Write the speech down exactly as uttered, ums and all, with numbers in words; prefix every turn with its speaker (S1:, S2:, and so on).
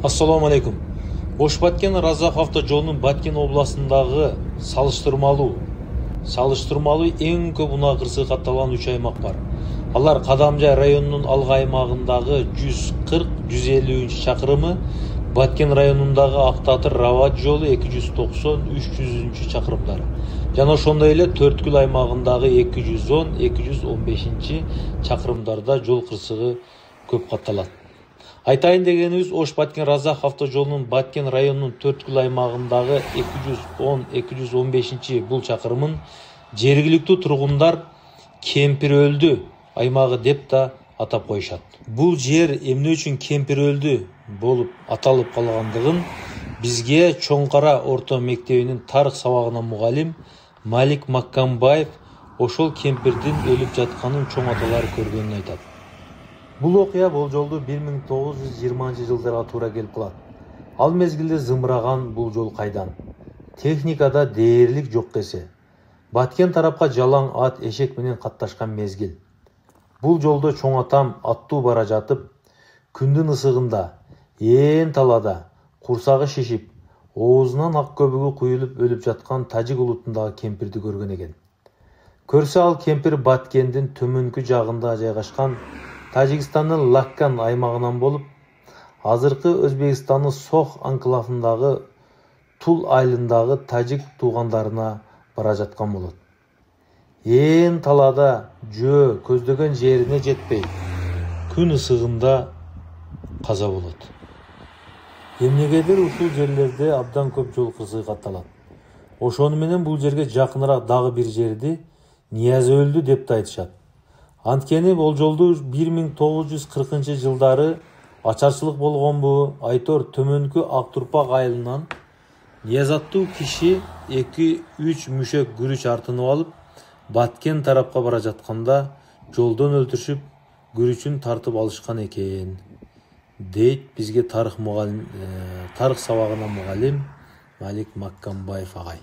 S1: Ассаламу алейкум. Ош Баткен Разах автожолунун Баткен областындагы салыштырмалуу салыштырмалуу эң көп унаа кырсыгы катталган үч аймак бар. Алар Кадамжай районунун алгы аймагындагы жүз кырк жүз элүүнчү чакырымы, Баткен районундагы Актатыр Рават жолу эки жүз токсон үч жүзүнчү чакырымдары жана ошондой эле Төрткүл аймагындагы эки жүз он эки жүз он бешинчи чакырымдарда жол кырсыгы көп катталат. Айтайын дегенибиз, Ош Баткен Разах автожолунун Баткен районунун Төрткүл аймагындагы эки жүз он эки жүз он бешинчи бул чакырымын жергиликтүү тургундар Кемпир өлдү аймагы деп да атап коюшат. Бул жер эмне үчүн Кемпир өлдү болуп аталып калгандыгын бизге Чоң Кара орто мектебинин тарых сабагынан мугалим Малик Маккамбаев ошол кемпирдин өлүп жатканын чоң аталары көргөнүн айтат. Бул окуя болжолду бир миң тогуз жүз жыйырманчы жылдарга туура келип калат. Ал мезгилде зымыраган бул жол кайдан? Техникада дээрлик жок десе. Баткен тарапка жалаң ат, эшек менен катташкан мезгил. Бул жолдо чоң атам аттуу бара жатып, күндүн ысыгында, ээн талада, курсагы шишип, оозунан ак көбүгү куюлуп өлүп жаткан тажик улутундагы кемпирди көргөн экен. Көрсө ал кемпир Баткендин төмөнкү жагында жайгашкан Тажикстандын Лаккан аймагынан болуп, азыркы Өзбекстандын Сох анклавындагы Тул айылындагы тажик туугандарына бара жаткан болот. Ээн талада жөө көздөгөн жерине жетпей, күн ысыгында каза болот. Эмнегедир ушул жерлерде абдан көп жол кырсыгы катталат. Ошону менен бул жерге жакыныраак дагы бир жерди Нияз өлдү деп да айтышат. Анткени болжолду бир миң тогуз жүз кыркынчы жылдары ачарчылык болгонбу, Айтор төмөнкү Актурпак айылынан Нияз аттуу киши эки үч мүшөк күрүч артынып алып, Баткен тарапка бара жатканда жолдон өлтүрүшүп, күрүчүн тартып алышкан экен, дейт бизге тарых мугалим, тарых сабагынан мугалим Малик Маккамбаев агай.